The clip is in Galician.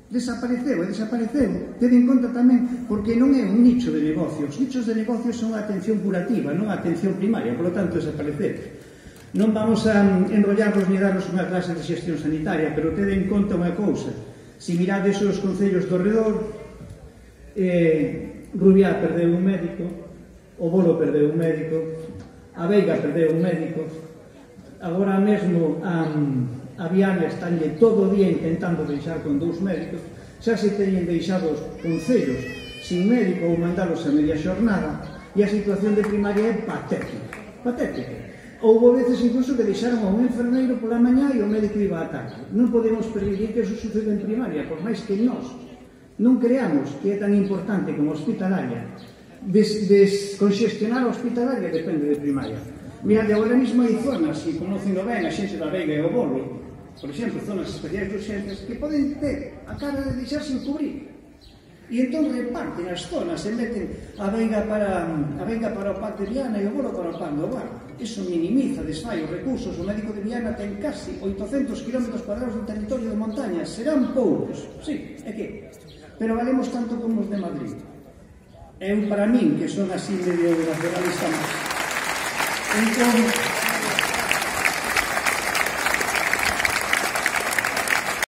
Desapareceu, e desapareceu. Ten en conta tamén, porque non é un nicho de negocio. Os nichos de negocio son a atención curativa, non a atención primaria, por lo tanto, desapareceu. Non vamos a enrollarnos ni darnos unha clase de xestión sanitaria, pero ten en conta unha cousa. Se mirades os concellos do redor, Rubiá perdeu un médico, o Bolo perdeu un médico, a Veiga perdeu un médico, agora mesmo a Viana estanlle todo o día intentando deixar con 2 médicos, xa se teñen deixado os concellos sin médico ou mandalos a media xornada, e a situación de primaria é patética, patética. Houve veces incluso que deixaron a un enfermeiro pola mañá e o médico iba á tarde. Non podemos permitir que eso suceda en primaria, por máis que nós non creamos que é tan importante como hospitalaria. Desconxestionar a hospitalaria depende de primaria. Mirade, agora mesmo hai zonas, e conocendo ben a xente da Veiga e o Bolo, por exemplo, zonas especiais de urxencias, que poden ter a cara de deixar sin cubrir. E entón reparten as zonas e meten a Veiga para o PAC de Viana e o Bolo para o PAC do Bar. Iso minimiza, desfai os recursos. O médico de Viana ten casi 800 km cuadrados de territorio de montaña. Serán poucos, sí, é que... Pero valemos tanto como os de Madrid. Para min, que son así medio nacionalista máis. Entón,